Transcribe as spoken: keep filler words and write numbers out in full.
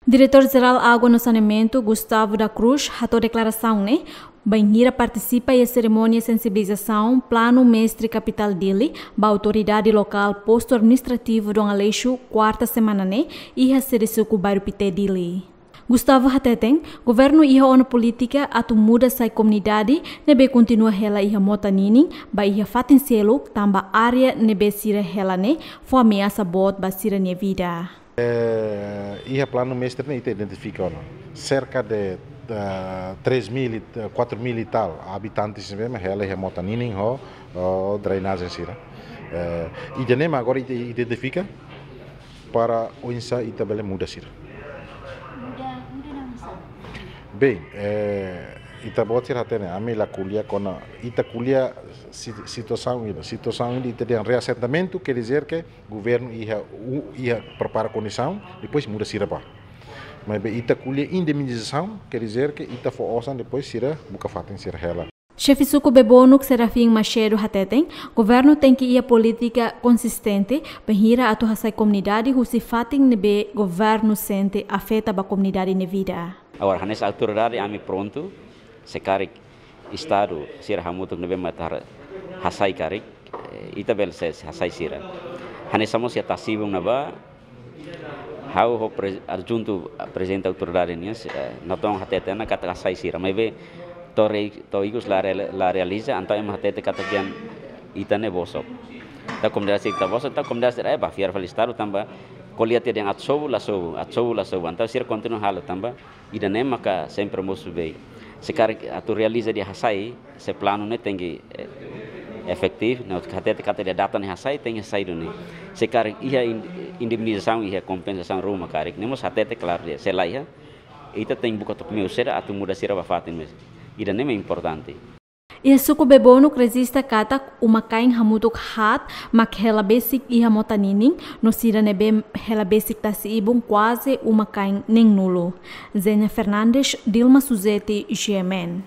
Diretór Jerál Água no Saneamentu, Gustavo da Cruz, hato'o deklarasaun ne'e bainhira partisipa iha serimónia sensibilizasaun Planu Mestre Kapitál Dili ba autoridade lokál postu administrativu Dom Aleixo, kuarta semana ne'e, iha sede suku Bairru Pité, Dili. Gustavo hateten, governu iha ona polítika atu muda sai komunidade ne'ebé kontinua hela iha mota ninin ba iha fatin seluk, tanba área ne'ebé sira hela ne'e fó ameasa boot ba sira-nia vida. Eh, iha planu mestre ne'e ita identifika ona cerca de, eh, três mil e, eh, quatro mil e tal habitantes ne'ebé mak hela iha mota ninin ho, ho drenajen sira. Eh, ida-ne'e mak agora ita identifika para oinsá ita bele muda sira. Muda, muda na'in sá? Bem, eh, ita-boot sira hatene, ami la ko'alia kona, ita ko'alia si-, situasaun ida. Situasaun ida ita dehan reasentamentu, quer dizer que governu iha, u-, iha prepara kondisaun, depois muda sira bá. Maibé ita ko'alia indemnizasaun, quer dizer que ita fó osan, depois sira buka fatin sira hela. Xefe suku Bebonuk Serafim Macedo hateten, governu tenke iha polítika konsistente bainhira atu hasai komunidade husi fatin ne'ebé governu sente afeta ba komunidade nia vida. Agora, hanesan autoridade ami prontu, se karik Estadu sira hamutuk ne'ebé mak atu hasai karik, eh, ita bele sei hasai sira. Hanesan mós iha Tasibung ne'ebá, ha'u ho pre-, adjuntu prezidente autoridade nian, eh, natoon hatete ona katak hasai sira. Maibé to'o re-, to'o ikus la re-, la realiza, entaun ema hatete katak dehan ita ne'e bosok. Entaun komunidade sira ita bosok, entaun komunidade sira, eh, bá fiar fali Estadu tanba ko'alia tiha dehan atu sobu la sobu, atu sobu la sobu. Entaun sira kontinua halo tanba ida-ne'e maka sempre mosu bei. Se karik atu realiza de'it hasai, se planu ne'e tenke, eh, efetivu, no hatete katak de'it data ne'e hasai, tenke hasai duni. Se karik iha in-, indemnizasaun, iha kompensasaun ruma karik, ne'e mós hatete klaru de'it, se la iha, ita tenke buka took meiu saida atu muda sira bá fatin mós. Ida-ne'e mak importante. Iha suku Bebonuk rejista katak uma-kain hamutuk haat mak hela besik iha mota ninin, no sira ne'ebé hela besik tasi-ibun kuaze uma-kain neenulu. Zenia Fernandes, Dilma Suzeti, G M N.